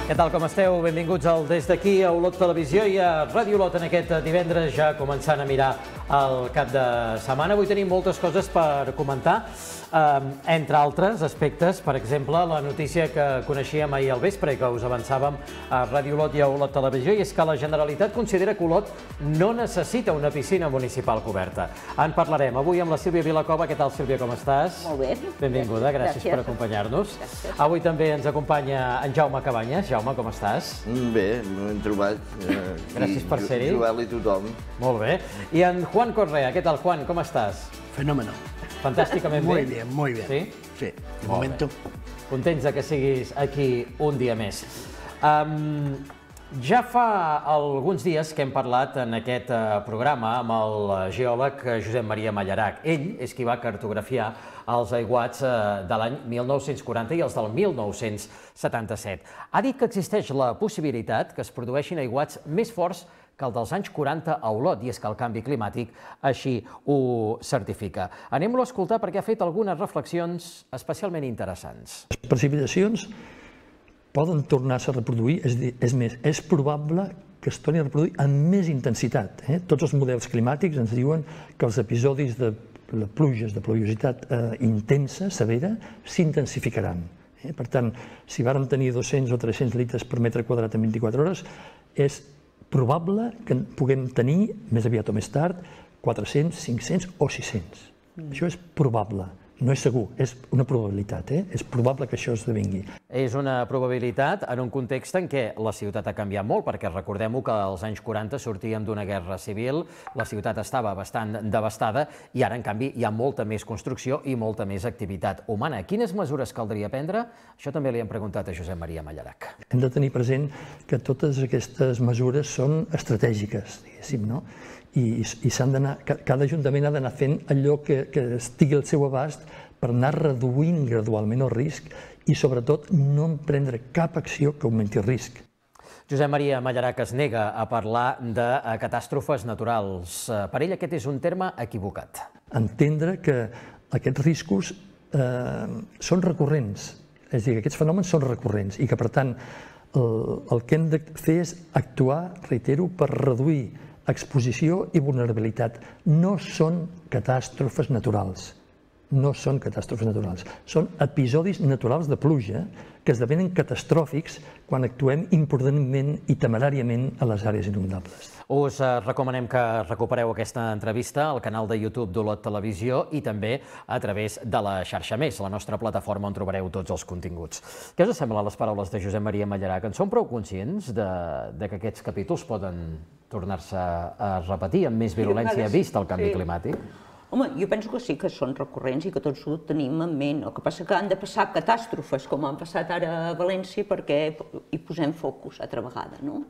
Què tal, com esteu? Benvinguts al Des d'aquí, a Olot Televisió i a Ràdio Olot en aquest divendres, ja començant a mirar el cap de setmana. Avui tenim moltes coses per comentar, entre altres aspectes, per exemple, la notícia que coneixíem ahir al vespre i que us avançàvem a Ràdio Olot i a Olot Televisió, i és que la Generalitat considera que Olot no necessita una piscina municipal coberta. En parlarem avui amb la Sílvia Vilacova. Què tal, Sílvia, com estàs? Molt bé. Benvinguda, gràcies per acompanyar-nos. Avui també ens acompanya en Jaume Cabanyes. Jaume, com estàs? Bé, m'hem trobat. Gràcies per ser-hi. Trobar-li tothom. Molt bé. I en Juan Correa. Què tal, Juan? Com estàs? Fenómeno. Fantàsticament bé? Muy bien, muy bien. Sí? Sí, de momento. Contents de que siguis aquí un dia més. Ja fa alguns dies que hem parlat en aquest programa amb el geòleg Josep Maria Mallarac. Ell és qui va cartografiar els aiguats de l'any 1940 i els del 1977. Ha dit que existeix la possibilitat que es produeixin aiguats més forts que el dels anys 40 a Olot, i és que el canvi climàtic així ho certifica. Anem-lo a escoltar perquè ha fet algunes reflexions especialment interessants. Les precipitacions poden tornar-se a reproduir, és més, és probable que es torni a reproduir amb més intensitat. Tots els models climàtics ens diuen que els episodis de pluges, de pluviositat intensa, severa, s'intensificaran. Per tant, si vàrem tenir 200 o 300 litres per metre quadrat en 24 hores, és probable que puguem tenir, més aviat o més tard, 400, 500 o 600. Això és probable. No és segur, és una probabilitat, és probable que això esdevingui. És una probabilitat en un context en què la ciutat ha canviat molt, perquè recordem-ho que als anys 40 sortíem d'una guerra civil, la ciutat estava bastant devastada i ara, en canvi, hi ha molta més construcció i molta més activitat humana. Quines mesures caldria prendre? Això també li hem preguntat a Josep Maria Mallarac. Hem de tenir present que totes aquestes mesures són estratègiques, diguéssim, no? I s'han d'anar, cada ajuntament ha d'anar fent allò que estigui al seu abast per anar reduint gradualment el risc i, sobretot, no emprendre cap acció que augmenti el risc. Josep Maria Mallarac es nega a parlar de catàstrofes naturals. Per ell aquest és un terme equivocat. Entendre que aquests riscos són recurrents, és a dir, que aquests fenòmens són recurrents i que, per tant, el que hem de fer és actuar, reitero, per reduir exposició i vulnerabilitat. No són catàstrofes naturals. No són catàstrofes naturals. Són episodis naturals de pluja que esdevenen catastròfics quan actuem imprudentment i temeràriament a les àrees inundables. Us recomanem que recupereu aquesta entrevista al canal de YouTube d'Olot Televisió i també a través de la xarxa Més, la nostra plataforma on trobareu tots els continguts. Què us semblen les paraules de Josep Maria Mallarac? En som prou conscients de que aquests capítols poden tornar-se a repetir amb més virulència vist el canvi climàtic? Home, jo penso que sí que són recurrents i que tots ho tenim en ment. El que passa que han de passar catàstrofes, com han passat ara a València, perquè hi posem focus altra vegada, no?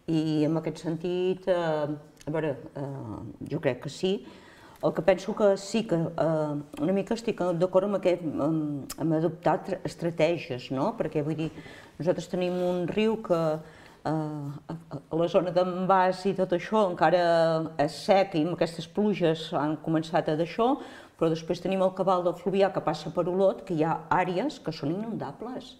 I en aquest sentit, a veure, jo crec que sí. El que penso que sí que una mica estic d'acord amb adoptar estratègies, no? Perquè, vull dir, nosaltres tenim un riu que a la zona d'envàs i tot això encara és sec i amb aquestes pluges han començat a d'això, però després tenim el cabal del Fluvià que passa per Olot, que hi ha àrees que són inundables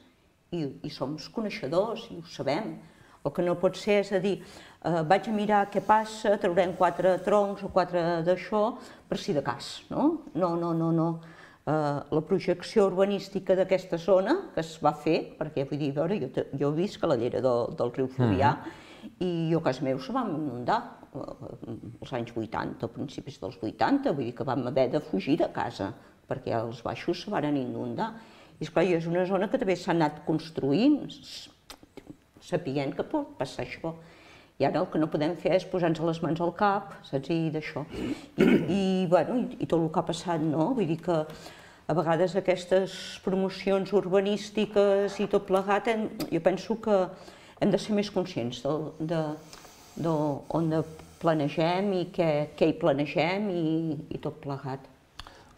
i som coneixedors i ho sabem. El que no pot ser és a dir, vaig a mirar què passa, traurem 4 troncs o 4 d'això per si de cas, no? No. La projecció urbanística d'aquesta zona que es va fer, perquè vull dir, jo he vist que la llera del riu Fluvià i jo a casa meu se va inundar als anys 80, a principis dels 80, vull dir que vam haver de fugir de casa perquè els baixos se van inundar. I esclar, és una zona que també s'ha anat construint, sapient que pot passar això. I ara el que no podem fer és posar-nos les mans al cap, saps, i d'això. I tot el que ha passat, no? Vull dir que a vegades aquestes promocions urbanístiques i tot plegat, jo penso que hem de ser més conscients d'on planegem i què hi planegem i tot plegat.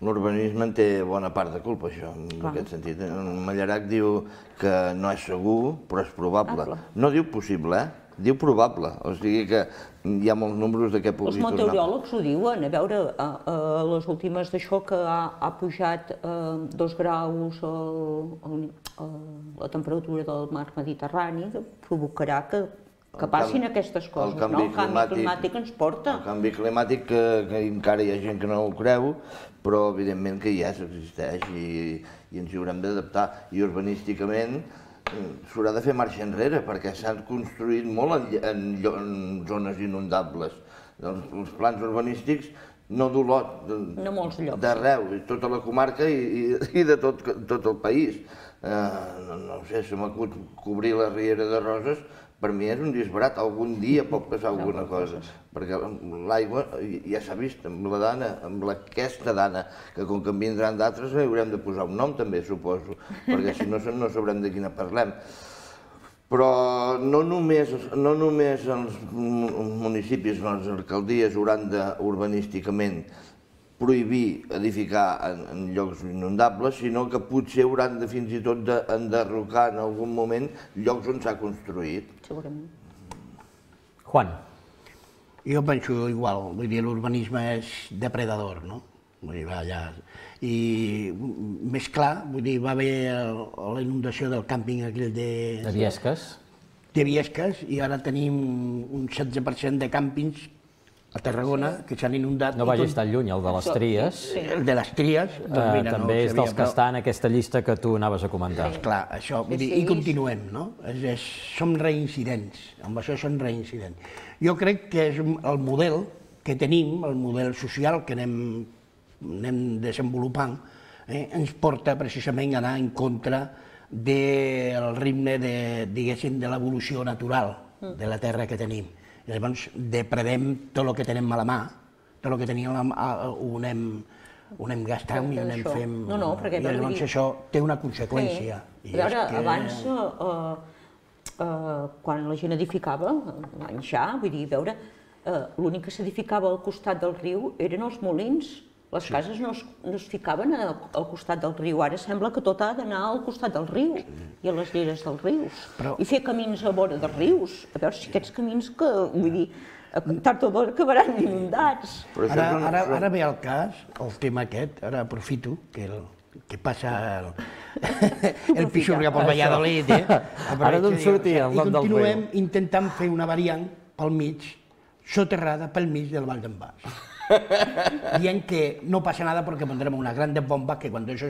L'urbanisme en té bona part de culpa, això, en aquest sentit. Mallarac diu que no és segur, però és probable. No diu possible, diu probable, o sigui que hi ha molts números de què pugui tornar. Els meteoròlegs ho diuen, a veure, les últimes d'això que ha pujat 2 graus la temperatura del mar Mediterrani, provocarà que passin aquestes coses, no? El canvi climàtic ens porta. El canvi climàtic, que encara hi ha gent que no ho creu, però evidentment que ja existeix i ens hi haurem d'adaptar. I urbanísticament s'haurà de fer marxa enrere, perquè s'han construït molt en zones inundables. Els plans urbanístics no d'Olot, d'arreu, tota la comarca i de tot el país. No sé, se m'acut cobrir la Riera de Roses, per mi és un disbarat, algun dia pot passar alguna cosa, perquè l'aigua ja s'ha vist amb la dana, amb aquesta dana, que com que en vindran d'altres haurem de posar un nom també, suposo, perquè si no sabrem de quina parlem. Però no només els municipis, les alcaldies hauran de, urbanísticament, prohibir edificar en llocs inundables, sinó que potser hauran de fins i tot d'enderrocar en algun moment llocs on s'ha construït. Segurament. Juan. Jo penso igual, vull dir, l'urbanisme és depredador, no? Vull dir, va allà. I més clar, vull dir, va haver la inundació del càmping aquell de Biesques. De Biesques, i ara tenim un 16% de càmpings a Tarragona, que s'han inundat. No vagis tan lluny, el de les Tries. El de les Tries. També és dels que està en aquesta llista que tu anaves a comentar. Clar, això, i continuem, no? Som reincidents, amb això som reincidents. Jo crec que és el model que tenim, el model social que anem desenvolupant, ens porta precisament a anar en contra del ritme, diguéssim, de l'evolució natural de la terra que tenim. Llavors, depredem tot el que tenim a la mà, tot el que teníem a la mà ho anem gastant i ho anem fent... I llavors això té una conseqüència. A veure, abans, quan la gent edificava, l'any ja, vull dir, veure, l'únic que s'edificava al costat del riu eren els molins. Les cases no es ficaven al costat del riu, ara sembla que tot ha d'anar al costat del riu i a les lleres dels rius. I fer camins a vora dels rius, a veure si aquests camins que, vull dir, tard o d'hora acabaran inundats. Ara ve el cas, el tema aquest, ara aprofito que passa el Pixurga per Valladolid, Ara d'on sortia el nom del riu? I continuem intentant fer una variant pel mig, soterrada pel mig del Vall d'en Bas. Dient que no pasa nada porque pondremos unas grandes bombas que cuando eso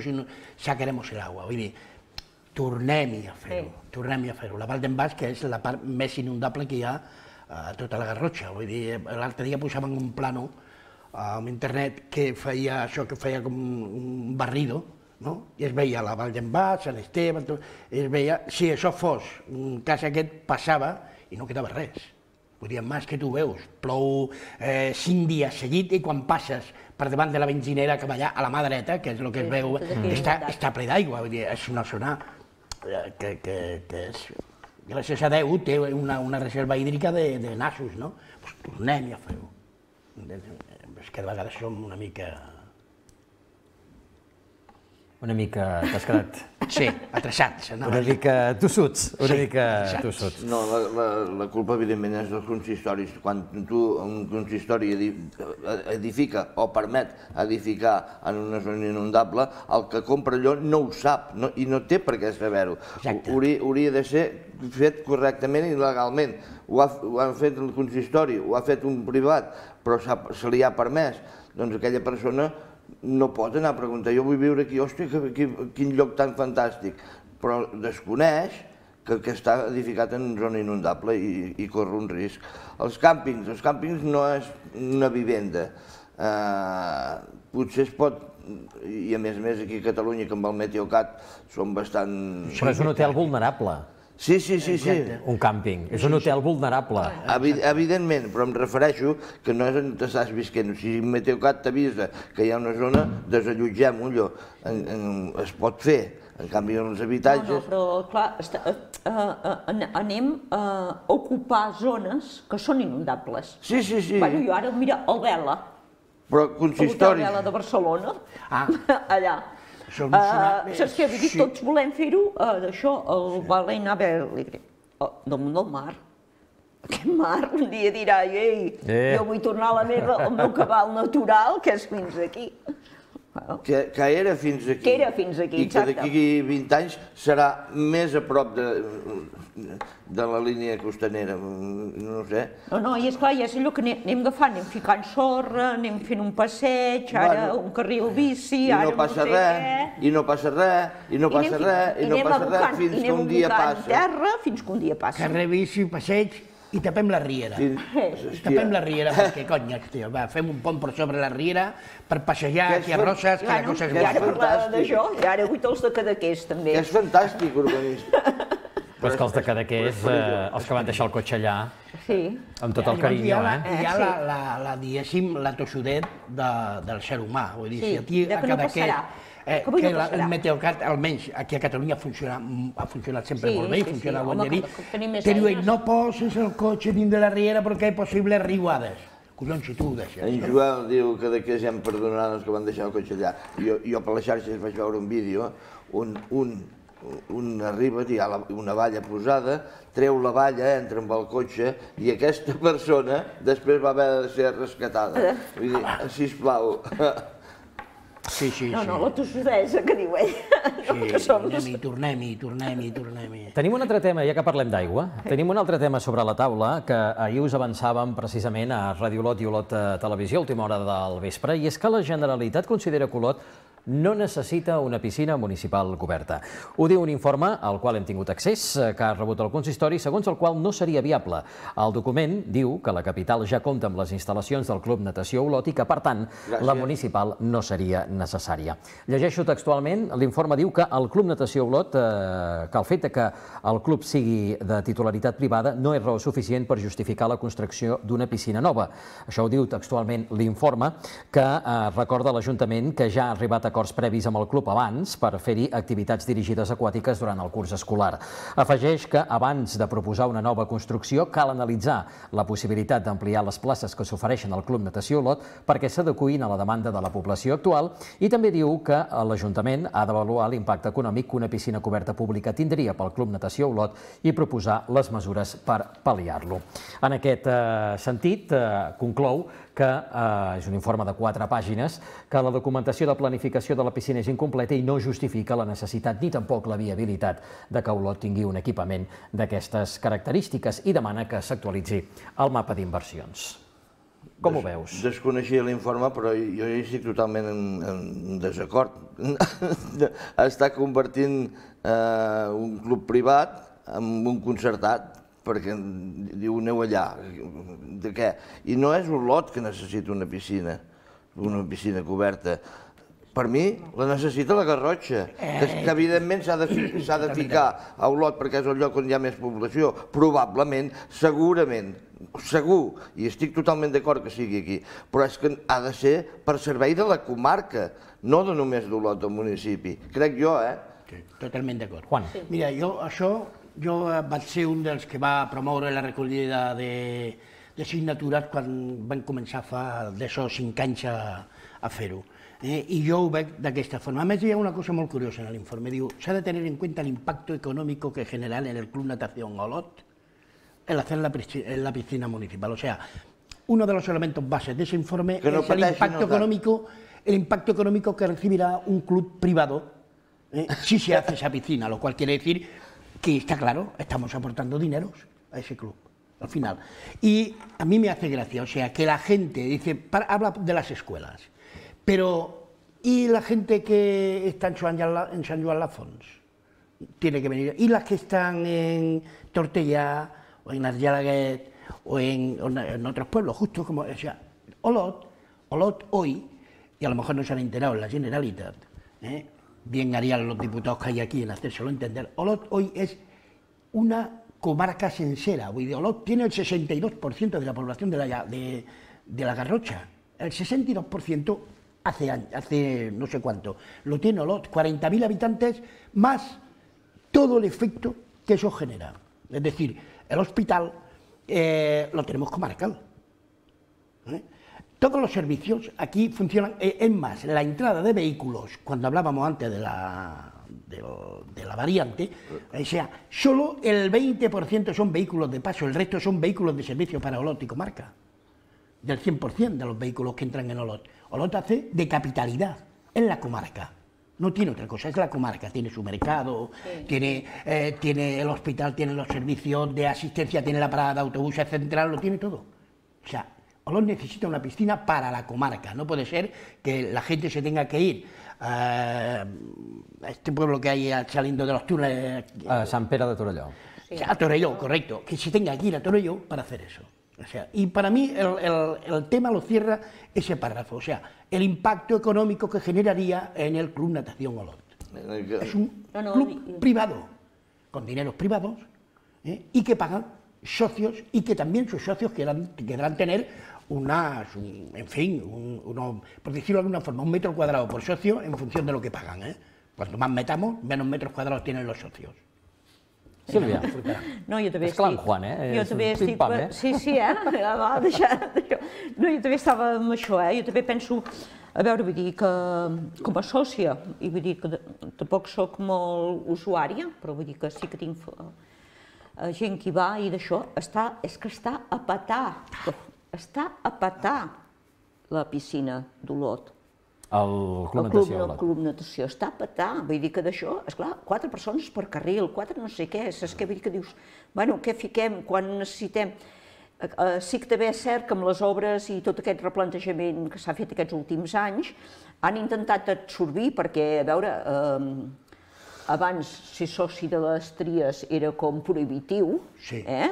sacaremos el agua. Vull dir, tornem-hi a fer-ho. La Val d'en Bas, que és la part més inundable que hi ha a tota la Garrotxa. Vull dir, l'altre dia posaven un plano a internet que feia això, que feia com un barrido, no? I es veia la Val d'en Bas, Sant Esteve, es veia, si això fos un cas aquest, passava i no quedava res. Vull dir, més que tu veus, plou 5 dies seguit i quan passes per davant de la benzinera que va allà a la mà dreta, que és el que es veu, està ple d'aigua. Vull dir, és una zona que és, gràcies a Déu, té una reserva hídrica de nassos, no? Doncs tornem-hi a fer-ho. És que de vegades som una mica... Una mica, t'has quedat... Sí, atreçats. Una mica tossuts, No, la culpa evidentment és dels consistoris. Quan tu, un consistori edifica o permet edificar en una zona inundable, el que compra allò no ho sap i no té per què saber-ho. Hauria de ser fet correctament i legalment. Ho ha fet el consistori, ho ha fet un privat, però se li ha permès. Doncs aquella persona no pot anar a preguntar, jo vull viure aquí, hòstia, quin lloc tan fantàstic, però desconeix que està edificat en zona inundable i corre un risc. Els càmpings no és una vivenda, potser es pot, i a més aquí a Catalunya, que amb el Meteocat són bastant... Però és un hotel vulnerable. Sí. Un càmping, és un hotel vulnerable. Evidentment, però em refereixo que no és on estàs visquent. Si Meteocat t'avisa que hi ha una zona, desallotgem-ho allò. Es pot fer. En canvi, en els habitatges... No, però clar, anem a ocupar zones que són inundables. Sí. Bueno, jo ara, mira, el Vela. Però consistoris... El Vela de Barcelona, allà. Saps què? Vull dir, tots volem fer-ho, d'això, el Balena Alegre, damunt del mar. Aquest mar un dia dirà, ei, jo vull tornar al meu cabal natural, que és fins aquí. Que era fins aquí. Que era fins aquí, exacte. I que d'aquí 20 anys serà més a prop de la línia costanera, no sé. No, i esclar, ja és allò que anem agafant, anem ficant sorra, anem fent un passeig, ara un carril bici, ara no sé què... I no passa res, i no passa res, i no passa res, fins que un dia passa. Terra, fins que un dia passa. Carrer bici, passeig, i tapem la riera. Tapem la riera perquè, cony, fem un pont per sobre la riera per passejar aquí a Roses, que la cosa és bona. I ara parlava d'això, i ara vull els de Cadaqués, també. Que és fantàstic, urbanista. Però és que els de Cadaqués, els que van deixar el cotxe allà, amb tot el carinyo, Hi ha, diguéssim, la tossudet del ser humà. Vull dir, si aquí a Cadaqués... que el Meteocat, almenys aquí a Catalunya, ha funcionat sempre molt bé, funciona bon de dir, que diuen, no poses el cotxe dins de la riera perquè hi ha possibles riuades. Collons, si tu ho deixes. En Joel diu que d'aquí ja em perdonaran els que van deixar el cotxe allà. Jo per les xarxes vaig veure un vídeo on un arriba, hi ha una valla posada, treu la valla, entra amb el cotxe i aquesta persona després va haver de ser rescatada. Vull dir, sisplau. No, la tossudesa que diu ell. Sí, tornem-hi. Tenim un altre tema, ja que parlem d'aigua, tenim un altre tema sobre la taula que ahir us avançàvem precisament a Ràdio Olot i Olot Televisió, a última hora del vespre, i és que la Generalitat considera que Olot no necessita una piscina municipal coberta. Ho diu un informe al qual hem tingut accés, que ha rebut el consistori, segons el qual no seria viable. El document diu que la capital ja compta amb les instal·lacions del Club Natació Olot i que, per tant, la municipal no seria necessària. Llegeixo textualment, l'informe diu que el Club Natació Olot, que el fet que el club sigui de titularitat privada no és raó suficient per justificar la construcció d'una piscina nova. Això ho diu textualment l'informe, que recorda l'Ajuntament que ja ha arribat a acords previs amb el club abans per fer-hi activitats dirigides aquàtiques durant el curs escolar. Afegeix que abans de proposar una nova construcció cal analitzar la possibilitat d'ampliar les places que s'ofereixen al Club Natació Olot perquè s'adeqüin a la demanda de la població actual i també diu que l'Ajuntament ha d'avaluar l'impacte econòmic que una piscina coberta pública tindria pel Club Natació Olot i proposar les mesures per pal·liar-lo. En aquest sentit, conclou que és un informe de 4 pàgines, que la documentació de planificació de la piscina és incompleta i no justifica la necessitat ni tampoc la viabilitat de que Olot tingui un equipament d'aquestes característiques i demana que s'actualitzi el mapa d'inversions. Com ho veus? Desconeixia l'informe, però jo hi estic totalment en desacord. Està convertint un club privat en un concertat, perquè diu, aneu allà. De què? I no és Olot que necessita una piscina coberta. Per mi la necessita la Garrotxa, que evidentment s'ha de ficar a Olot perquè és el lloc on hi ha més població, probablement, segurament, segur, i estic totalment d'acord que sigui aquí, però és que ha de ser per servei de la comarca, no de només d'Olot, del municipi. Crec jo, Sí, totalment d'acord. Juan. Mira, jo vaig ser un dels que va promoure la recollida de signatures quan van començar fa d'això 5 anys a fer-ho. I jo ho veig d'aquesta forma. A més, hi ha una cosa molt curiosa en l'informe. Diu, s'ha de tenir en cuenta el impacto económico que generan en el Club Natación Olot el hacer la piscina municipal. O sea, uno de los elementos bases de ese informe es el impacto económico que recibirá un club privado si se hace esa piscina, lo cual quiere decir que está claro, estamos aportando dineros a ese club, al final. Y a mí me hace gracia, o sea, que la gente dice, habla de las escuelas, pero ¿y la gente que está en Sant Joan Lafons? Tiene que venir. ¿Y las que están en Tortellà o en Argelaguet o en otros pueblos? Justo como, o sea, Olot hoy, y a lo mejor no se han enterado en la Generalitat, bien harían los diputados que hay aquí en hacérselo entender, Olot hoy es una comarca sensera. Olot tiene el 62% de la población de la Garrotxa. El 62% hace no sé cuánto. Lo tiene Olot, 40.000 habitantes más todo el efecto que eso genera. Es decir, el hospital lo tenemos comarcal. Todos los servicios aquí funcionan, es más, la entrada de vehículos, cuando hablábamos antes de la de la variante, o sea, solo el 20% son vehículos de paso, el resto son vehículos de servicio para Olot y comarca, del 100% de los vehículos que entran en Olot. Olot hace de capitalidad en la comarca, no tiene otra cosa, es la comarca, tiene su mercado, tiene el hospital, tiene los servicios de asistencia, tiene la parada de autobuses central, lo tiene todo. O sea, Olot necesita una piscina para la comarca, no puede ser que la gente se tenga que ir a este pueblo que hay saliendo de los túneles. A Sant Pere de Torelló. Sí. A Torelló, correcto, que se tenga que ir a Torelló para hacer eso. O sea, y para mí el tema lo cierra ese párrafo, o sea, el impacto económico que generaría en el Club Natación Olot. Es un club privado, con dineros privados, y que pagan socios, y que también sus socios querrán tener por decirlo de alguna forma, 1 metro cuadrado por socio en función de lo que pagan. Cuanto más metamos, menos metros cuadrados tienen los socios. Sílvia, no, jo també és clar en Juan, Jo també estic... Sí, va, deixar... No, jo també estava amb això, jo també penso... A veure, vull dir que com a sòcia, i vull dir que tampoc soc molt usuària, però vull dir que sí que tinc gent que hi va i d'això, és que està a petar la piscina d'Olot. El Club Natació està a petar, vull dir que d'això, esclar, 4 persones per carril, 4 no sé què, saps què vull dir que dius, bueno, què fiquem quan necessitem? Sí que també és cert que amb les obres i tot aquest replantejament que s'ha fet aquests últims anys han intentat absorbir, perquè, a veure, abans ser soci de les Tries era com prohibitiu,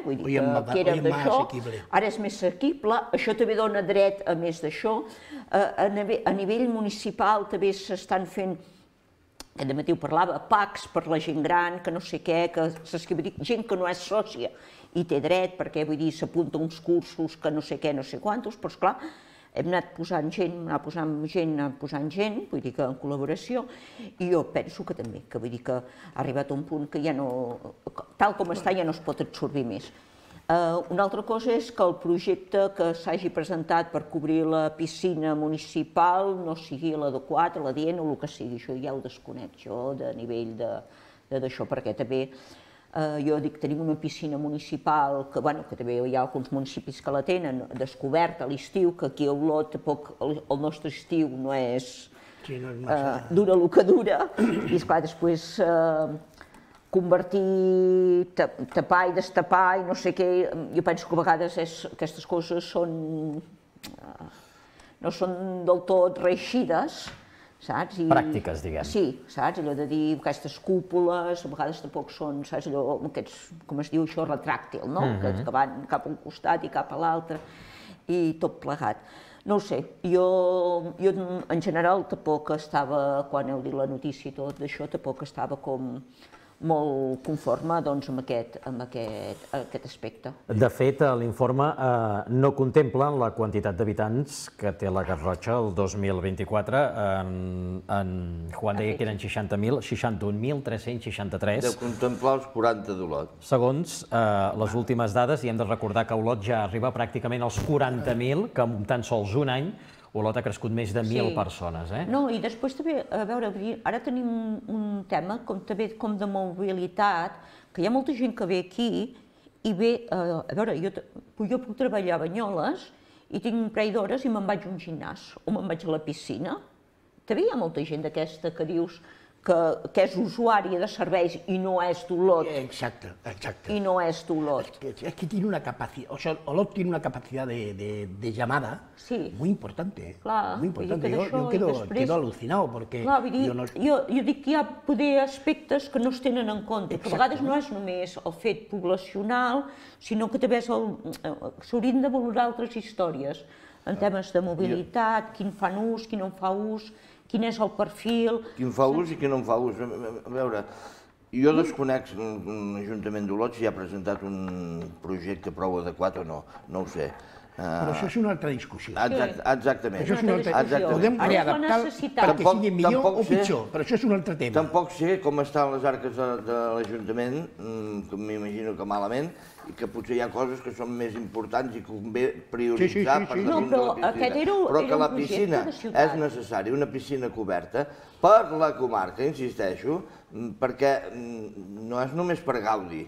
vull dir que era d'això, ara és més assequible, això també dona dret a més d'això, a nivell municipal també s'estan fent, aquest dematí ho parlava, PACs per la gent gran, que no sé què, gent que no és sòcia i té dret, perquè vull dir, s'apunta uns cursos que no sé què, no sé quantos, però esclar, hem anat posant gent, vull dir que en col·laboració, i jo penso que també, que vull dir que ha arribat a un punt que ja no, tal com està ja no es pot absorbir més. Una altra cosa és que el projecte que s'hagi presentat per cobrir la piscina municipal no sigui l'adequat, l'adient o el que sigui, això ja ho desconec jo de nivell d'això, perquè també jo dic, tenim una piscina municipal que també hi ha alguns municipis que la tenen descoberta a l'estiu, que aquí a Olot tampoc el nostre estiu no és dura el que dura, i esclar, després convertir, tapar i destapar i no sé què, jo penso que a vegades aquestes coses no són del tot reeixides, saps? Pràctiques, diguem. Sí, saps? Allò de dir aquestes cúpules, a vegades tampoc són, saps? Allò, aquests, com es diu això, retràctil, no? Que van cap a un costat i cap a l'altre i tot plegat. No ho sé, jo en general tampoc estava, quan heu dit la notícia i tot d'això, tampoc estava com molt conforme amb aquest aspecte. De fet, l'informe no contempla la quantitat d'habitants que té la Garrotxa el 2024. En Juan deia que eren 60.000, 61.363. Deu contemplar els 40 d'Olot. Segons les últimes dades, i hem de recordar que Olot ja arriba pràcticament als 40.000, que en tan sols un any Olot ha crescut més de 1.000 persones. No, i després també, a veure, ara tenim un tema també com de mobilitat, que hi ha molta gent que ve aquí i ve, a veure, jo puc treballar a Banyoles i tinc un parell d'hores i me'n vaig a un gimnàs o me'n vaig a la piscina. També hi ha molta gent d'aquesta que dius que és usuària de serveis i no és d'Olot. Exacte. Y no es d'Olot. Es que tiene una capacidad, o sea, Olot tiene una capacidad de llamada muy importante. Clar, muy importante. Yo quedo alucinado porque... Clar, jo dic que hi ha poder aspectes que no es tenen en compte, que a vegades no és només el fet poblacional, sinó que també s'haurien de valorar altres històries, en temes de mobilitat, quin fan ús, qui no en fa ús, quin és el perfil... Quin fa ús i qui no en fa ús. A veure, jo desconec l'Ajuntament d'Olot si ha presentat un projecte prou adequat o no, no ho sé. Però això és una altra discussió. Exactament. Això és una altra discussió. Podem readaptar perquè sigui millor o pitjor, però això és un altre tema. Tampoc sé com estan les arques de l'Ajuntament, que m'imagino que malament, i que potser hi ha coses que són més importants i que convé prioritzar per damunt de la piscina. Però que la piscina és necessària, una piscina coberta, per la comarca, insisteixo, perquè no és només per gaudi,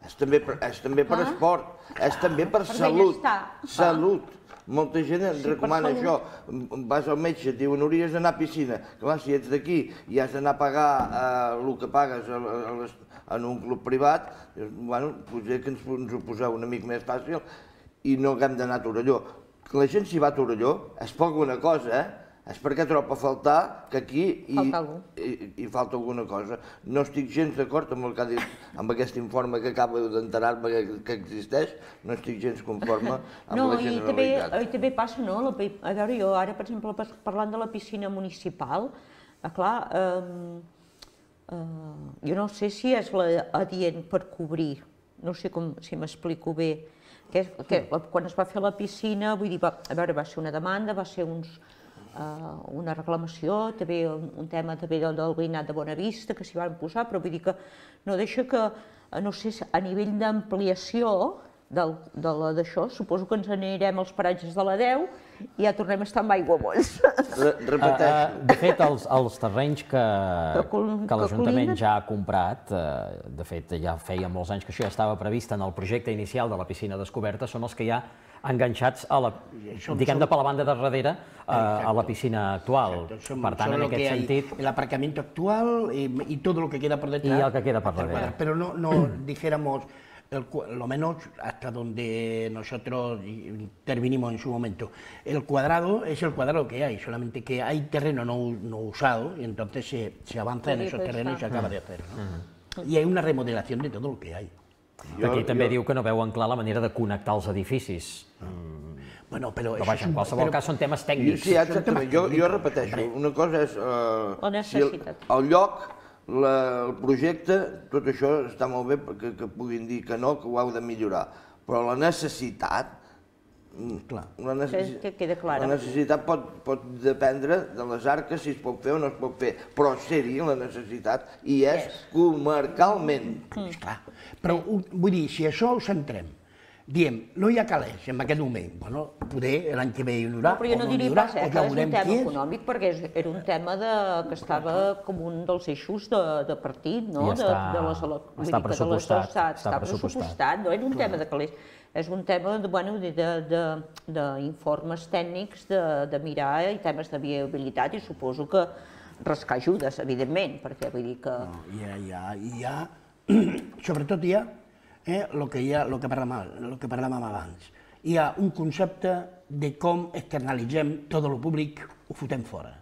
és també per esport, és també per salut. Salut. Molta gent et recomana això. Vas al metge, et diuen hauries d'anar a piscina. Clar, si ets d'aquí i has d'anar a pagar el que pagues en un club privat, bueno, potser que ens ho poseu una mica més fàcil i no haguem d'anar a Torelló. La gent s'hi va a Torelló és per alguna cosa, és perquè troba a faltar que aquí hi falta alguna cosa. No estic gens d'acord amb el que ha dit, amb aquest informe que acabo d'enterar-me que existeix, no estic gens conforme amb la Generalitat. No, i també passa, no? A veure, jo ara, per exemple, parlant de la piscina municipal, clar, jo no sé si és adient per cobrir, no sé si m'explico bé, que quan es va fer la piscina, vull dir, a veure, va ser una demanda, va ser una reclamació, també un tema també del veïnat de Bonavista, que s'hi van posar, però vull dir que no deixa que, no sé, a nivell d'ampliació d'això, suposo que ens anirem als paratges de la Deu i ja tornem a estar amb aiguamolls. Repeteixo. De fet, els terrenys que l'Ajuntament ja ha comprat, de fet, ja feia molts anys que això ja estava previst en el projecte inicial de la piscina descoberta, són els que ja enganxats a la, diguem-ne, per la banda de darrere, a la piscina actual. Per tant, en aquest sentit... El aparcamiento actual y todo lo que queda por detrás. Y el que queda por darrere. Pero no dijéramos, lo menos hasta donde nosotros intervinimos en su momento. El cuadrado es el cuadrado que hay, solamente que hay terreno no usado y entonces se avanza en esos terrenos y se acaba de hacer, ¿no? Y hay una remodelación de todo lo que hay. Aquí també diu que no veuen clar la manera de connectar els edificis. Bueno, però en qualsevol cas són temes tècnics. Sí, exactament. Jo repeteixo, una cosa és el lloc, el projecte, tot això està molt bé que puguin dir que no, que ho heu de millorar, però la necessitat, la necessitat pot dependre de les arques, si es pot fer o no es pot fer, però ser-hi la necessitat i és comarcalment. Clar, però vull dir, si això ho centrem, diem, no hi ha calés en aquest moment, bueno, poder l'any que ve hi haurà, però jo no diria pas que és un tema econòmic, perquè era un tema que estava com un dels eixos de partit, no? Està pressupostat. Està pressupostat, no és un tema de calés, és un tema d'informes tècnics, de mirar i temes de viabilitat i suposo que rascar ajudes, evidentment, perquè vull dir que... Hi ha, sobretot hi ha, el que parlàvem abans. Hi ha un concepte de com externalitzem tot el públic, ho fotem fora.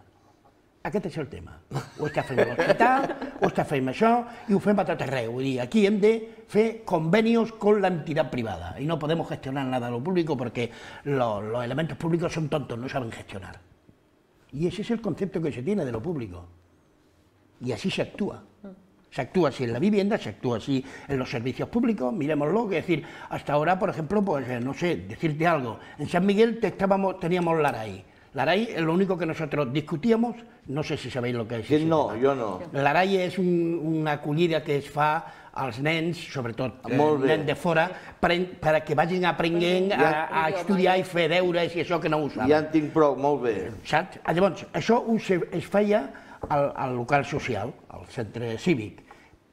Aquest és el tema. Ho està fent l'hospital, ho està fent això i ho fem a tot arreu. Vull dir, aquí hem de fer convenios con la entidad privada y no podemos gestionar nada de lo público porque los elementos públicos son tontos, no saben gestionar. Y ese es el concepto que se tiene de lo público. Y así se actúa. Se actúa así en la vivienda, se actúa así en los servicios públicos, miremoslo, es decir, hasta ahora, por ejemplo, pues no sé, decirte algo, en San Miguel teníamos la RAI. La RAI es lo único que nosotros discutíamos, no sé si sabéis lo que és. No, jo no. La RAI és una acollida que es fa als nens, sobretot nens de fora, perquè vagin aprenent a estudiar i fer deures i això que no ho saben. Ja en tinc prou, molt bé. Saps? Llavors, això es feia al local social, al centre cívic,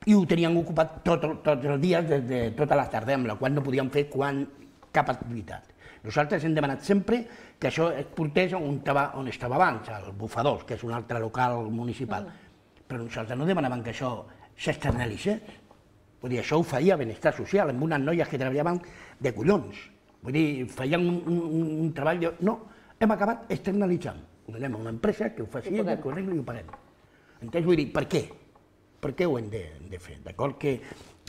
i ho tenien ocupat tots els dies, de tota la tarda, amb la qual no podíem fer cap activitat. Nosaltres hem demanat sempre que això es portés on estava abans, al Bufadors, que és un altre local municipal. Però nosaltres no demanàvem que això s'externalitzés. Vull dir, això ho feia Benestar Social, amb unes noies que treballaven de collons. Vull dir, feien un treball... No, hem acabat externalitzant. Ho donem a una empresa que ho faci, que ho arregli i ho paguem. Entens? Vull dir, per què? Per què ho hem de fer? D'acord que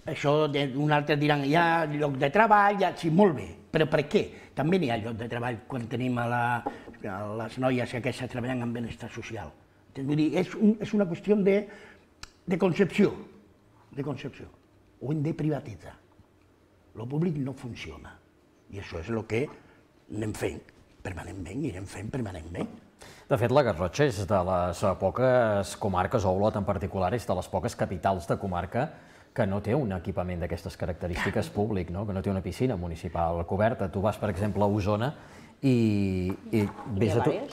això un altre diran, hi ha lloc de treball, sí, molt bé, però per què? També n'hi ha lloc de treball quan tenim a les noies aquestes treballant en benestar social. Vull dir, és una qüestió de concepció. Ho hem de privatitzar. Lo públic no funciona. I això és el que anem fent permanentment i anem fent permanentment. De fet, la Garrotxa és de les poques comarques, o Olot en particular, és de les poques capitals de comarca que no té un equipament d'aquestes característiques públic, no? Que no té una piscina municipal coberta. Tu vas, per exemple, a Osona i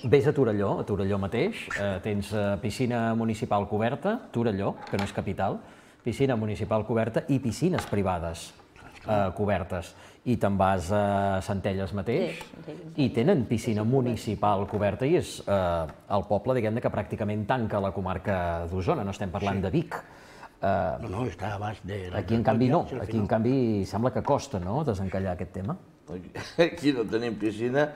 ves a Torelló mateix, tens piscina municipal coberta, Torelló, que no és capital, piscina municipal coberta i piscines privades cobertes. I te'n vas a Centelles mateix i tenen piscina municipal coberta i és el poble, diguem-ne, que pràcticament tanca la comarca d'Osona, no estem parlant de Vic. No, està a baix de... Aquí, en canvi, no. Aquí, en canvi, sembla que costa, no?, desencallar aquest tema. Aquí no tenim piscina,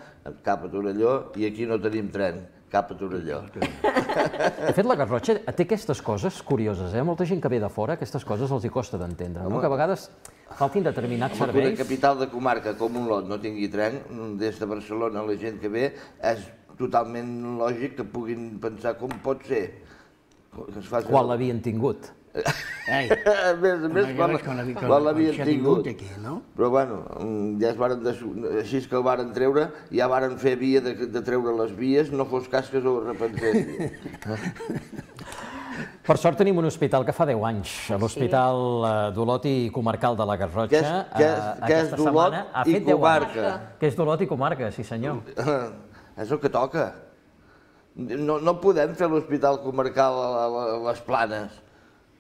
cap a Torelló, i aquí no tenim tren, cap a Torelló. De fet, la Garrotxa té aquestes coses curioses, Molta gent que ve de fora, aquestes coses els hi costa d'entendre, no? Que a vegades faltin determinats serveis. Una capital de comarca com Olot no tingui tren, des de Barcelona la gent que ve, és totalment lògic que puguin pensar com pot ser. Quan l'havien tingut. A més, quan l'havien tingut. Però bueno, ja així que el varen treure, ja varen fer via de treure les vies, no fos cas que s'ho repensessin. Per sort tenim un hospital que fa 10 anys, l'Hospital d'Olot i Comarcal de la Garrotxa. Que és d'Olot i comarca. Que és d'Olot i comarca, sí senyor. És el que toca. No podem fer l'Hospital Comarcal a les Planes.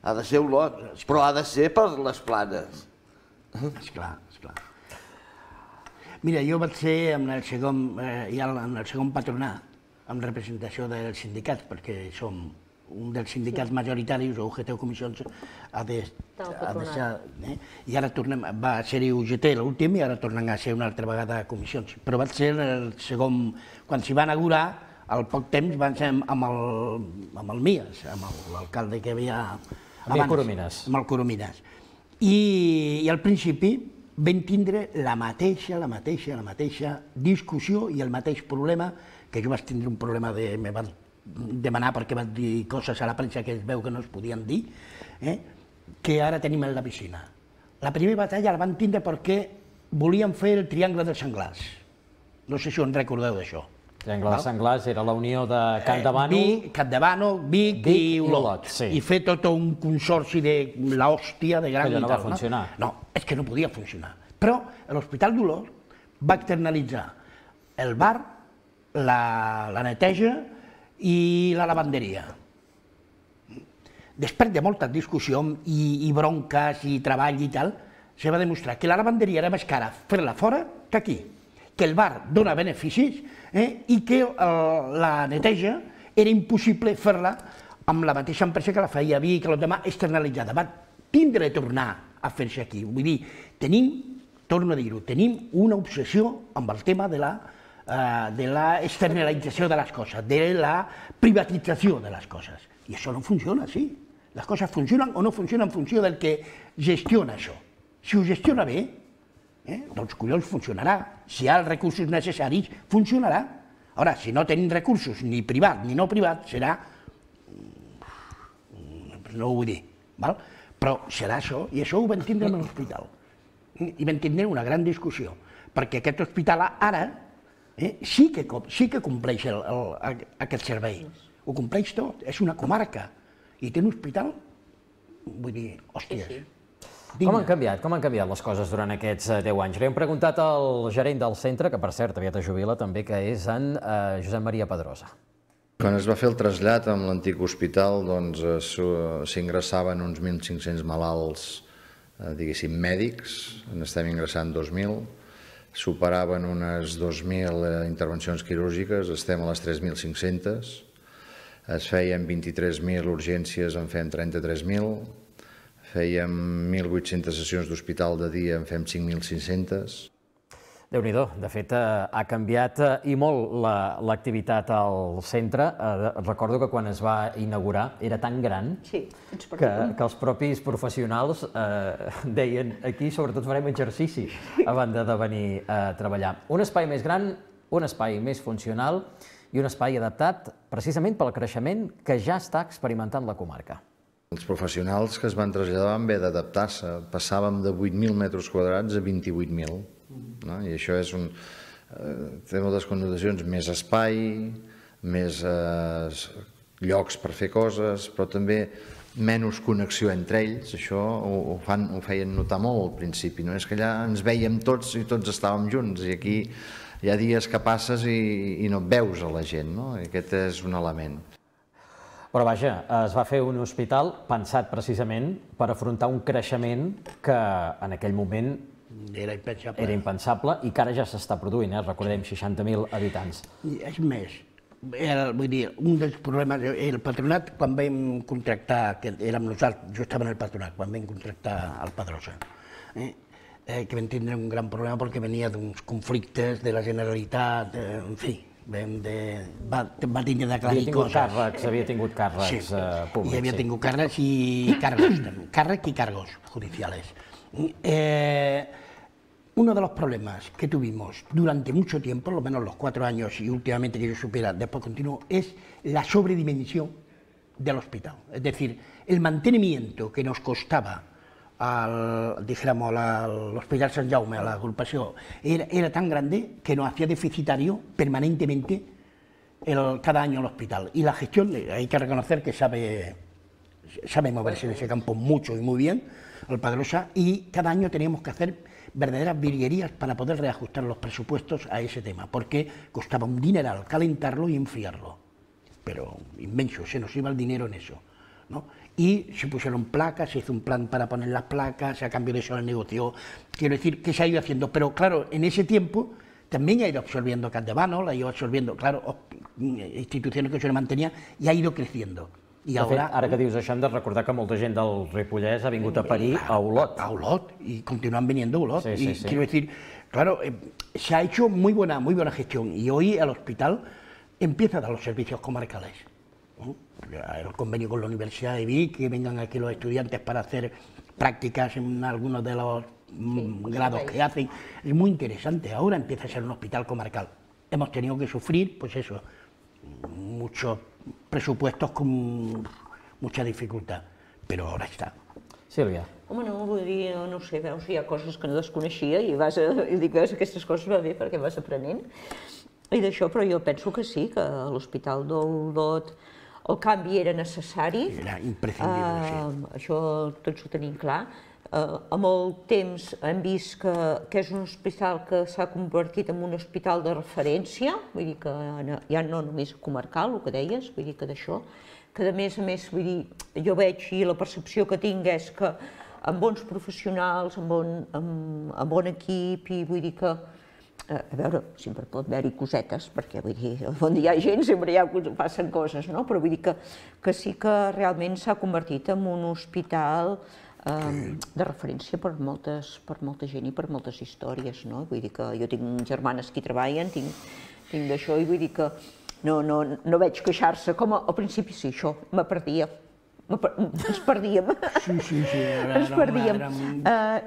Ha de ser Olot, però ha de ser per les Planes. Esclar, esclar. Mira, jo vaig ser en el segon patronat, amb representació dels sindicats, perquè som un dels sindicats majoritaris, o UGT o Comissions, ha de ser... I ara tornem, va ser-hi UGT l'últim i ara tornem a ser una altra vegada Comissions. Però vaig ser el segon, quan s'hi va inaugurar, al poc temps van ser amb el Mias, amb l'alcalde que havia... Amb el Coromines. I al principi vam tindre la mateixa discussió i el mateix problema, que jo vaig tindre un problema me van demanar perquè vaig dir coses a la premsa que es veu que no es podien dir, que ara tenim en la piscina. La primera batalla la van tindre perquè volien fer el Triangle dels Senglars. No sé si us en recordeu d'això. Triangle dels Senglars era la unió de Campdevànol, Vic i Olot. I fer tot un consorci de l'hòstia de gran... Que no va funcionar. No, és que no podia funcionar. Però l'Hospital d'Olot va externalitzar el bar, la neteja i la lavanderia. Després de moltes discussions i bronques i treball i tal, se va demostrar que la lavanderia era més cara fer-la fora que aquí, que el bar dona beneficis i que la neteja era impossible fer-la amb la mateixa empresa que la feia Vic, que la demà externalitzada. Va tindre de tornar a fer-se aquí. Vull dir, torno a dir-ho, tenim una obsessió amb el tema de la externalització de les coses, de la privatització de les coses. I això no funciona així. Les coses funcionen o no funcionen en funció del que gestiona això. Si ho gestiona bé, doncs collons funcionarà. Si hi ha els recursos necessaris, funcionarà. Ara, si no tenim recursos, ni privat ni no privat, serà... no ho vull dir, però serà això, i això ho vam tindre en l'hospital. I vam tindre una gran discussió, perquè aquest hospital ara sí que compleix aquest servei. Ho compleix tot, és una comarca, i té un hospital, vull dir, hòsties. Com han canviat les coses durant aquests 10 anys? Li hem preguntat al gerent del centre, que per cert aviat es jubila també, que és en Josep Maria Pedrosa. Quan es va fer el trasllat amb l'antic hospital, doncs s'ingressaven uns 1.500 malalts, diguéssim, mèdics, n'estem ingressant 2.000, superaven unes 2.000 intervencions quirúrgiques, estem a les 3.500, es feien 23.000 urgències, en fem 33.000, fèiem 1.800 sessions d'hospital de dia, en fem 5.500. Déu-n'hi-do, de fet ha canviat i molt l'activitat al centre. Recordo que quan es va inaugurar era tan gran que els propis professionals deien aquí sobretot farem exercici a banda de venir a treballar. Un espai més gran, un espai més funcional i un espai adaptat precisament pel creixement que ja està experimentant la comarca. Els professionals que es van traslladar van haver d'adaptar-se. Passàvem de 8.000 metres quadrats a 28.000. I això té moltes connotacions, més espai, més llocs per fer coses, però també menys connexió entre ells, això ho feien notar molt al principi, no? És que allà ens vèiem tots i tots estàvem junts, i aquí hi ha dies que passes i no et veus a la gent, no? I aquest és un element. Però vaja, es va fer un hospital pensat precisament per afrontar un creixement que en aquell moment era impensable i que ara ja s'està produint, recordem, 60.000 habitants. És més, vull dir, un dels problemes, el patronat, quan vam contractar, que érem nosaltres, jo estava en el patronat, quan vam contractar el Pedrosa, que vam tindre un gran problema perquè venia d'uns conflictes de la Generalitat, en fi, va tindre d'aclarir coses. Havia tingut càrrecs públics. Sí, havia tingut càrrecs i càrrecs judiciales. Uno de los problemas que tuvimos durante mucho tiempo, por lo menos los 4 años y últimamente que yo supiera, después continuó, es la sobredimensión del hospital. Es decir, el mantenimiento que nos costaba al Hospital Sant Jaume, a la agrupación, era tan grande que nos hacía deficitario permanentemente cada año el hospital. Y la gestión, hay que reconocer que sabe moverse en ese campo mucho y muy bien, el Pedrosa, y cada año teníamos que hacer verdaderas virguerías para poder reajustar los presupuestos a ese tema, porque costaba un dineral calentarlo y enfriarlo, pero inmenso, se nos iba el dinero en eso, ¿no? Y se pusieron placas, se hizo un plan para poner las placas, a cambio de eso el negocio, quiero decir que se ha ido haciendo, pero claro, en ese tiempo también ha ido absorbiendo Capdevànol, ha ido absorbiendo, claro, instituciones que se mantenían y ha ido creciendo. De fet, ara que dius això, hem de recordar que molta gent del Ripollès ha vingut a parir a Olot. A Olot, y continúan viniendo a Olot. Y quiero decir, claro, se ha hecho muy buena gestión, y hoy el hospital empieza a dar los servicios comarcales. El convenio con la Universidad de Vic, que vengan aquí los estudiantes para hacer prácticas en algunos de los grados que hacen, es muy interesante. Ahora empieza a ser un hospital comarcal. Hemos tenido que sufrir, pues eso, muchos presupuestos con mucha dificultad, però ara està. Sílvia. Home, no, vull dir, no sé, veus, hi ha coses que no desconeixia i dic, veus, aquestes coses va bé perquè vas aprenent. I d'això, però jo penso que sí, que a l'Hospital d'Olot el canvi era necessari. Era imprescindible, sí. Això tots ho tenim clar. Amb el temps hem vist que és un hospital que s'ha convertit en un hospital de referència, vull dir que ja no només comarcal, el que deies, vull dir que d'això, que a més, vull dir, jo veig i la percepció que tinc és que amb bons professionals, amb bon equip, i vull dir que, a veure, sempre pot haver-hi cosetes, perquè vull dir, on hi ha gent sempre passen coses, no? Però vull dir que sí que realment s'ha convertit en un hospital de referència per molta gent i per moltes històries, no? Vull dir que jo tinc germanes que hi treballen, tinc d'això, i vull dir que no veig queixar-se, com al principi sí, això, me perdia, ens perdíem. Sí. Ens perdíem.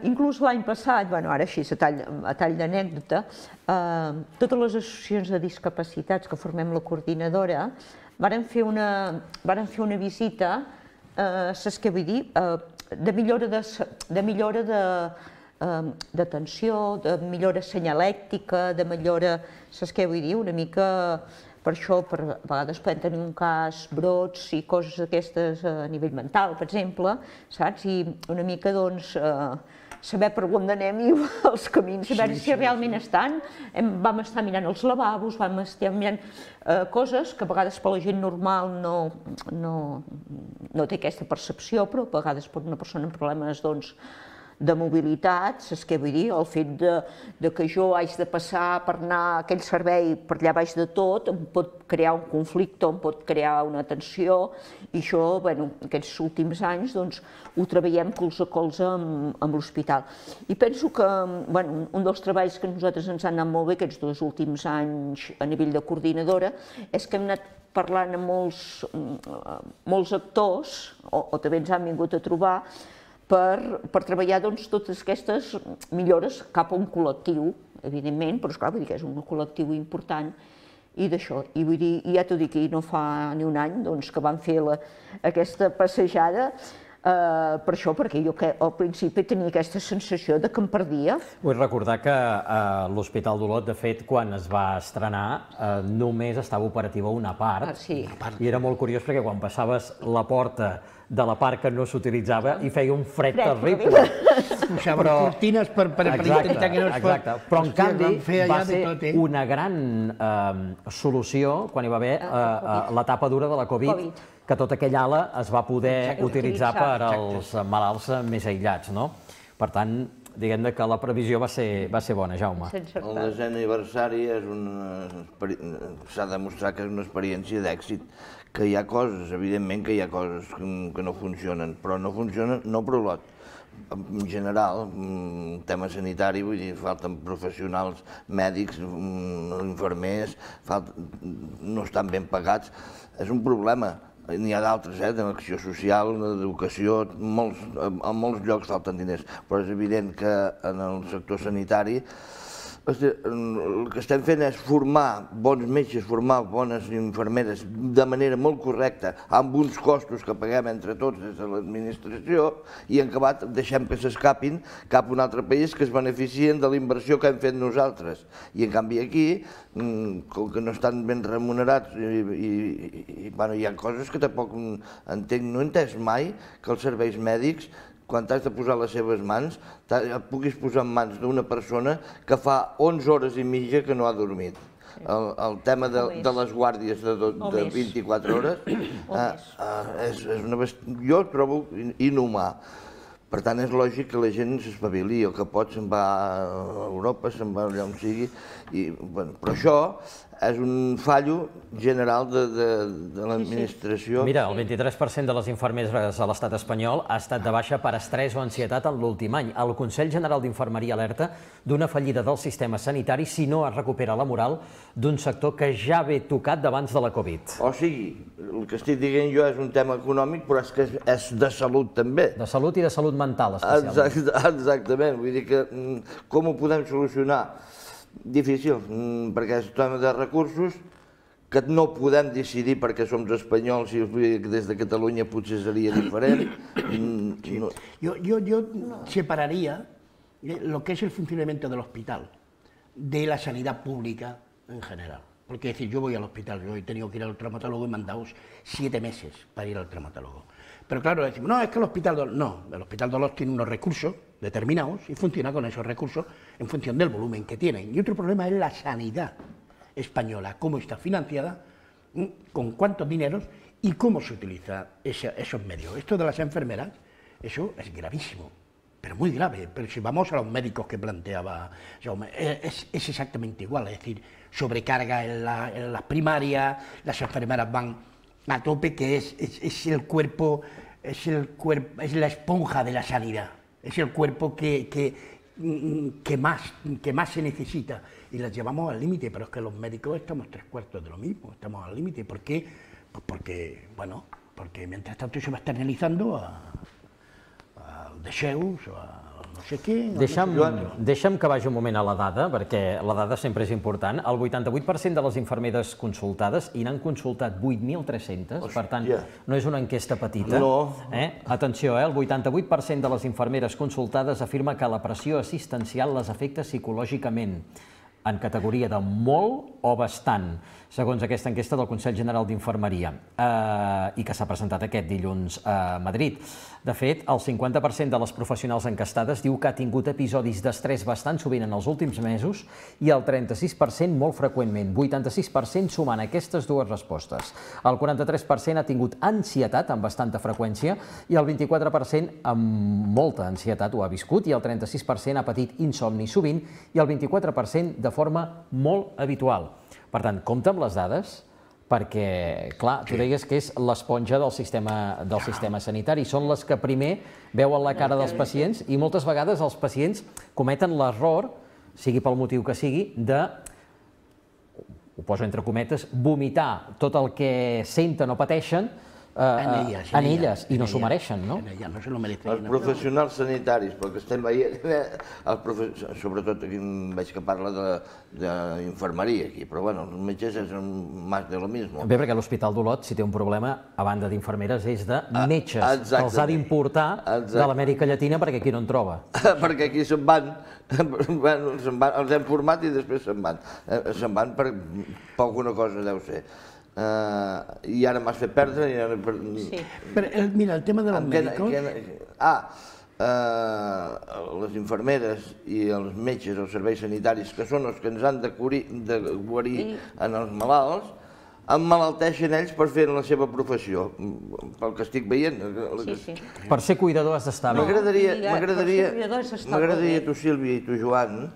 Inclús l'any passat, bueno, ara així, a tall d'anècdota, totes les associacions de discapacitats que formem la coordinadora varen fer una visita, saps què vull dir? De millora d'atenció, de millora senyalèctica, de millora, saps què vull dir? Una mica per això, a vegades podem tenir un cas, brots i coses d'aquestes a nivell mental, per exemple, saps? I una mica, doncs, saber per on anem i els camins, a veure si realment estan. Vam estar mirant els lavabos, vam estar mirant coses que a vegades per la gent normal no té aquesta percepció, però a vegades per una persona amb problemes de mobilitat, saps què vull dir? El fet que jo haig de passar per anar a aquell servei per allà baix de tot em pot crear un conflicte, em pot crear una tensió, i això, bueno, aquests últims anys, doncs, ho treballem colze a colze amb l'hospital. I penso que, bueno, un dels treballs que a nosaltres ens han anat molt bé aquests 2 últims anys a nivell de coordinadora és que hem anat parlant amb molts actors, o també ens han vingut a trobar, per treballar totes aquestes millores cap a un col·lectiu, evidentment, però esclar, vull dir que és un col·lectiu important, i d'això. I vull dir, ja t'ho dic, no fa ni un any que vam fer aquesta passejada, per això, perquè jo al principi tenia aquesta sensació que em perdia. Vull recordar que l'Hospital d'Olot, de fet, quan es va estrenar, només estava operativa una part, i era molt curiós perquè quan passaves la porta de la part que no s'utilitzava i feia un fred terrible. Posaven cortines per intentar que no es fos. Exacte, però en canvi va ser una gran solució quan hi va haver la tapa dura de la Covid, que tota aquella ala es va poder utilitzar per als malalts més aïllats, no? Per tant, diguem que la previsió va ser bona, Jaume. El 10è aniversari s'ha demostrat que és una experiència d'èxit, que hi ha coses, evidentment que hi ha coses que no funcionen, però no funcionen no per lot. En general, en tema sanitari, vull dir, falten professionals mèdics, infermers, no estan ben pagats, és un problema. N'hi ha d'altres, de l'acció social, d'educació, en molts llocs falten diners, però és evident que en el sector sanitari el que estem fent és formar bons metges, formar bones infermeres de manera molt correcta, amb uns costos que paguem entre tots des de l'administració, i en acabat deixem que s'escapin cap a un altre país que es beneficien de la inversió que hem fet nosaltres. I en canvi aquí, com que no estan ben remunerats, hi ha coses que tampoc entenc, no he entès mai que els serveis mèdics, quan t'has de posar les seves mans, puguis posar en mans d'una persona que fa 11 hores i mitja que no ha dormit. El tema de les guàrdies de 24 hores jo ho trobo inhumà. Per tant, és lògic que la gent s'espavili, el que pot se'n va a Europa, se'n va allà on sigui, però això és un fallo general de l'administració. Mira, el 23% de les infermeres a l'estat espanyol ha estat de baixa per estrès o ansietat en l'últim any. El Consell General d'Infermeria alerta d'una fallida del sistema sanitari si no es recupera la moral d'un sector que ja ve tocat d'abans de la Covid. O sigui, el que estic dient jo és un tema econòmic, però és que és de salut també. De salut i de salut mental, especialment. Exactament, vull dir que com ho podem solucionar? Difícil, perquè és un tema de recursos que no podem decidir perquè som espanyols i des de Catalunya potser seria diferent. Yo separaría lo que es el funcionamiento del hospital de la sanidad pública en general. Porque es decir, yo voy al hospital, yo he tenido que ir al traumatólogo y me han dado 7 meses para ir al traumatólogo. Pero claro, decimos, no, es que el Hospital Dolor... No, el Hospital Dolor tiene unos recursos determinados y funciona con esos recursos en función del volumen que tienen. Y otro problema es la sanidad española, cómo está financiada, con cuántos dineros y cómo se utilizan esos medios. Esto de las enfermeras, eso es gravísimo, pero muy grave. Pero si vamos a los médicos que planteaba Jaume, es exactamente igual, es decir, sobrecarga en las primarias, las enfermeras van a tope, que es el cuerpo, es la esponja de la sanidad, es el cuerpo que más se necesita, y las llevamos al límite, pero es que los médicos estamos 3/4 de lo mismo, estamos al límite. ¿Por qué? Pues porque mientras tanto se va externalizando a Deseus o a no sé què... Deixa'm que vagi un moment a la dada, perquè la dada sempre és important. El 88% de les infermeres consultades, i n'han consultat 8.300, per tant, no és una enquesta petita. Atenció, el 88% de les infermeres consultades afirma que la pressió assistencial les afecta psicològicament, en categoria de molt o bastant, segons aquesta enquesta del Consell General d'Infermeria, i que s'ha presentat aquest dilluns a Madrid. De fet, el 50% de les professionals enquestades diu que ha tingut episodis d'estrès bastant sovint en els últims mesos i el 36% molt freqüentment, 86% sumant aquestes dues respostes. El 43% ha tingut ansietat amb bastanta freqüència i el 24% amb molta ansietat ho ha viscut i el 36% ha patit insomni sovint i el 24% de forma molt habitual. Per tant, compta amb les dades, perquè, clar, tu deies que és l'esponja del sistema sanitari, són les que primer veuen la cara dels pacients i moltes vegades els pacients cometen l'error, sigui pel motiu que sigui, de, ho poso entre cometes, vomitar tot el que senten o pateixen en elles, i no s'ho mereixen, no? Els professionals sanitaris, perquè estem veient, sobretot aquí veig que parla d'infermeria aquí, però bueno, els metges és més de lo mismo. Bé, perquè l'Hospital d'Olot, si té un problema, a banda d'infermeres, és de metges, que els ha d'importar de l'Amèrica Llatina perquè aquí no en troba. Perquè aquí se'n van, els hem format i després se'n van per alguna cosa deu ser. i ara m'has fet perdre. Sí. Mira, el tema de los médicos... Les infermeres i els metges, els serveis sanitaris, que són els que ens han de guarir en els malalts, emmalalteixen ells per fer la seva professió, pel que estic veient. Per ser cuidador has d'estar bé. M'agradaria tu, Sílvia, i tu, Joan,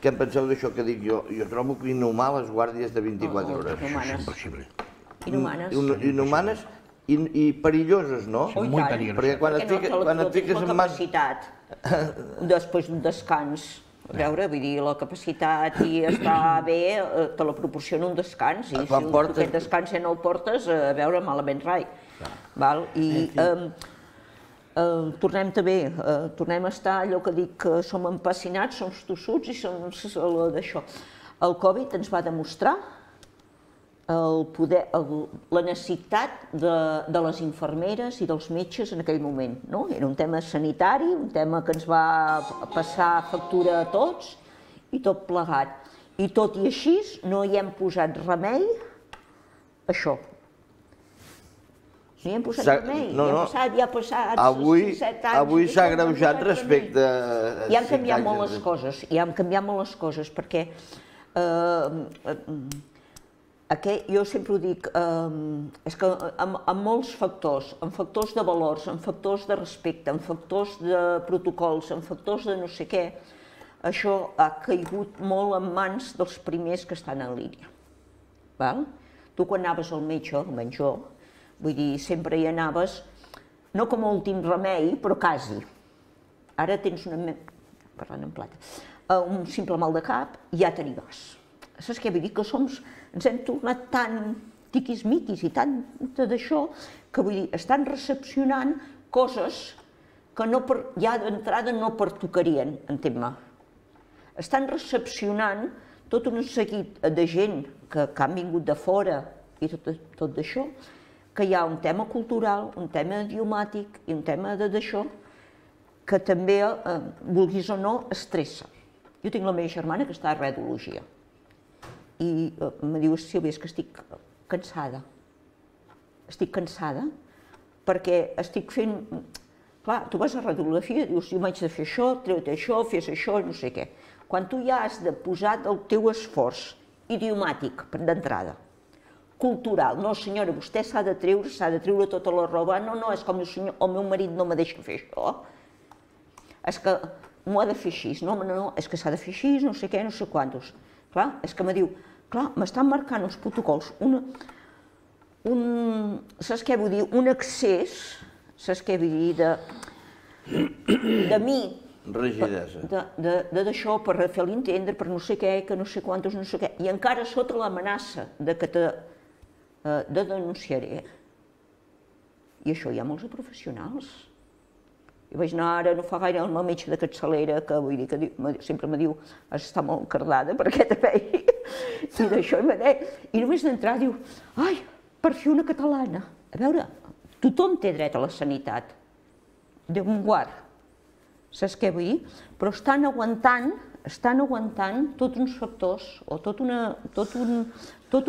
què en penseu d'això que dic jo? Jo trobo que inhumar les guàrdies de 24 hores. És impossible. Inhumanes. I perilloses, no? Són molt perilloses. Perquè quan et fiques en mans... Després d'un descans, a veure, vull dir, la capacitat i estar bé te la proporciona un descans, i si aquest descans ja no el portes, a veure, malament rai. I tornem a estar allò que dic, que som empassinats, som tossuts i som d'això. El Covid ens va demostrar la necessitat de les infermeres i dels metges en aquell moment. Era un tema sanitari, un tema que ens va passar factura a tots i tot plegat. I tot i així no hi hem posat remei a això. No hi hem posat remei, ja ha passat 6-7 anys. Avui s'ha agreujat respecte a... I han canviat molt les coses, perquè jo sempre ho dic, és que en molts factors, en factors de valors, en factors de respecte, en factors de protocols, en factors de no sé què, això ha caigut molt en mans dels primers que estan en línia. Tu quan anaves al metge, almenys jo, vull dir, sempre hi anaves, no com a últim remei, però quasi. Ara tens parlant en plata, un simple mal de cap i ja te n'hi vas. Saps què vull dir? Que ens hem tornat tan tiquismiquis i tant d'això que vull dir, estan recepcionant coses que ja d'entrada no pertocarien, entén-me. Estan recepcionant tot un seguit de gent que han vingut de fora i tot d'això, que hi ha un tema cultural, un tema idiomàtic i un tema d'això que també, vulguis o no, estressa. Jo tinc la meva germana que està a radiologia i em diu, Sílvia, és que estic cansada. Estic cansada perquè estic fent... Clar, tu vas a radiografia i dius, jo m'haig de fer això, treu-te això, fes això, no sé què. Quan tu ja has de posar el teu esforç idiomàtic d'entrada, cultural, no senyora, vostè s'ha de treure tota la roba, no, és com el meu marit no me deixa fer això, és que m'ho ha de fer així, no, és que s'ha de fer així, no sé què, no sé quantos. Clar, és que me diu, clar, m'estan marcant uns protocols, saps què vull dir, un excés, saps què vull dir, de mi, d'això, per fer-li entendre, per no sé què, que no sé quantos, no sé què, i encara sota l'amenaça de que te denunciaré. I això hi ha molts professionals. Jo vaig anar ara, no fa gaire, al meu metge de capçalera, que vull dir, que sempre me diu, has d'estar molt cardada per aquest vei, i d'això, i només d'entrar diu, ai, per fi una catalana. A veure, tothom té dret a la sanitat, Déu me'n guard, saps què vull dir? Però estan aguantant tots uns factors, o tota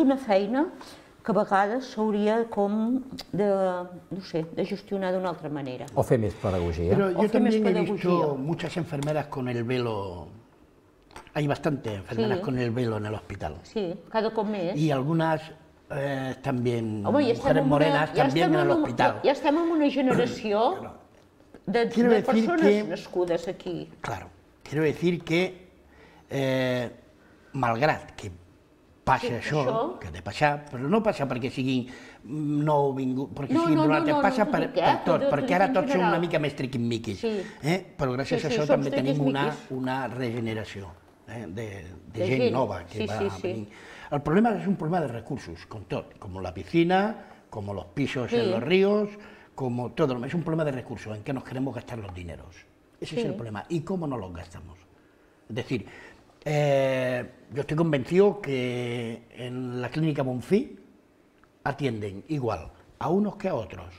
una feina que a vegades s'hauria com de, no sé, de gestionar d'una altra manera. O fer més pedagogia. Pero yo también he visto muchas enfermeras con el velo, hay bastantes enfermeras con el velo en el hospital. Sí, cada cop més. Y algunas también, mujeres morenas también en el hospital. Ja estem en una generació de persones nascudes aquí. Claro, quiero decir que, malgrat que passa això, que ha de passar, però no passa perquè siguin nouvinguts, perquè siguin d'un altre, passa per tot, perquè ara tots som una mica més triquimiquis, però gràcies a això també tenim una regeneració de gent nova que va venir. El problema es un problema de recursos, con todo, como la piscina, como los pisos en los ríos, como todo, es un problema de recursos, en que nos queremos gastar los dineros. Ese es el problema, y cómo no los gastamos. Es decir, yo estoy convencido que en la clínica Bonfí atienden igual a unos que a otros,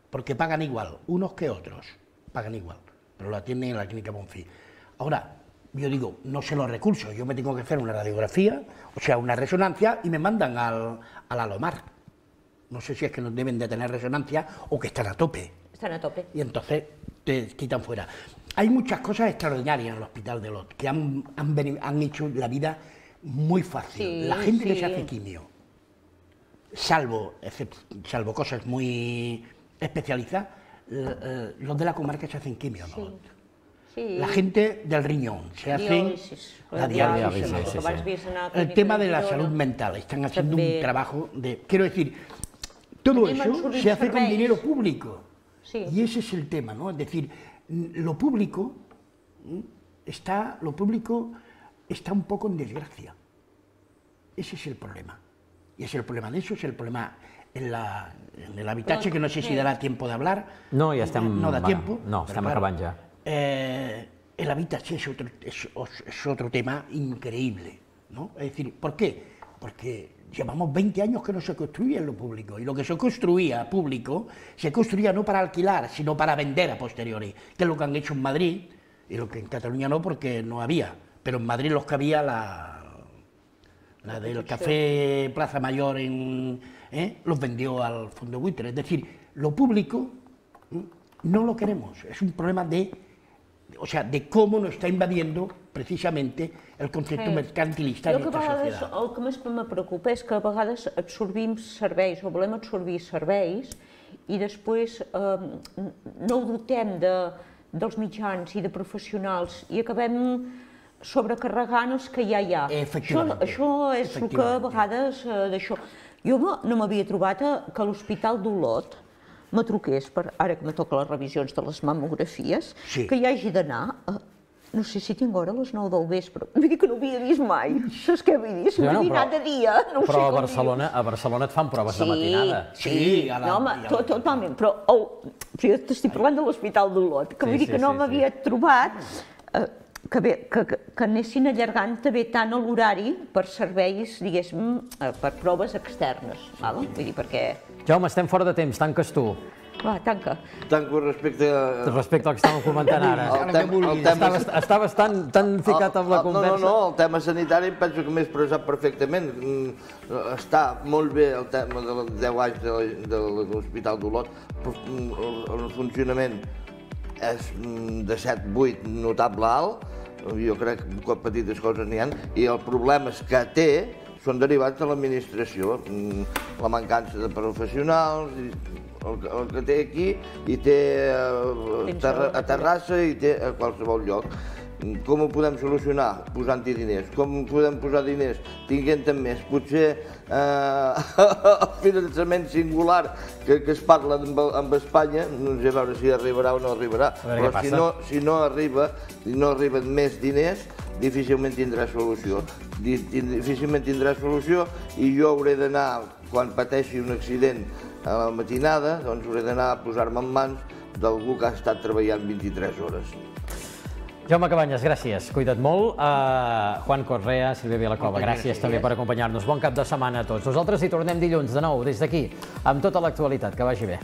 porque pagan igual, unos que otros, pagan igual, pero lo atienden en la clínica Bonfí. Ahora, yo digo, no sé los recursos, yo me tengo que hacer una radiografía, o sea, una resonancia, y me mandan al Alomar. No sé si es que no deben de tener resonancia o que están a tope. Están a tope. Y entonces te quitan fuera. Hay muchas cosas extraordinarias en el Hospital de Olot que han hecho la vida muy fácil. Sí, la gente que sí. se hace quimio, salvo cosas muy especializadas, los de la comarca se hacen quimio en Olot. Sí. La gente del riñón se hacen la diálisis. El tema de la salud mental, están haciendo un trabajo de... Quiero decir, todo eso se hace con dinero público. Sí. Y ese es el tema, ¿no? Es decir, lo público está un poco en desgracia. Ese es el problema. Y es el problema de eso, es el problema en el habitatge, que no sé si darà tiempo de hablar. No, ja estem... No da tiempo. No, estem acabant ja. El habitatge es otro tema increíble, ¿no? Es decir, ¿por qué? Porque llevamos 20 años que no se construía en lo público, y lo que se construía público se construía no para alquilar, sino para vender a posteriori, que es lo que han hecho en Madrid, y lo que en Cataluña no, porque no había, pero en Madrid los que había, la del Café Plaza Mayor, los vendió al fondo buitre. Es decir, lo público no lo queremos, es un problema de cómo nos está invadiendo precisament el concepte mercantilista de la societat. El que més me preocupa és que a vegades absorbim serveis o volem absorbir serveis i després no ho dotem dels mitjans i de professionals i acabem sobrecarregant els que ja hi ha. Això és el que a vegades d'això... Jo no m'havia trobat que l'Hospital d'Olot me truqués, ara que me toca les revisions de les mamografies, que hi hagi d'anar, no sé si tinc hora a les 9 del vespre, vull dir que no ho havia vist mai, saps què vull dir? Si m'he dit de dia, no ho sé com dir. A Barcelona et fan proves de matinada. Sí, no, home, totalment, però jo t'estic parlant de l'Hospital d'Olot, que vull dir que no m'havia trobat que anessin allargant també tant l'horari per serveis, diguéssim, per proves externes, vull dir, perquè... Jaume, estem fora de temps, tanques tu. Va, tanca. Tanco respecte al que estàvem comentant ara. Estaves tan ficat amb la conversa. No, el tema sanitari em penso que m'he expressat perfectament. Està molt bé el tema dels 10 anys de l'Hospital d'Olot. El funcionament és de 7-8 notable alt. Jo crec que petites coses n'hi ha. I els problemes que té són derivats de l'administració, la mancança de professionals, el que té aquí, i té a Terrassa i té a qualsevol lloc. Com ho podem solucionar? Posant-hi diners. Com podem posar diners? Tinguent-en més. Potser el finançament singular que es parla amb Espanya, no sé a veure si arribarà o no arribarà, però si no arriben més diners, difícilment tindrà solució. Difícilment tindrà solució i jo hauré d'anar, quan pateixi un accident a la matinada, doncs hauré d'anar a posar-me en mans d'algú que ha estat treballant 23 hores. Jaume Cabanyes, gràcies. Cuida't molt. Juan Correa, Sílvia Vilacueva, gràcies també per acompanyar-nos. Bon cap de setmana a tots. Nosaltres hi tornem dilluns de nou des d'aquí, amb tota l'actualitat. Que vagi bé.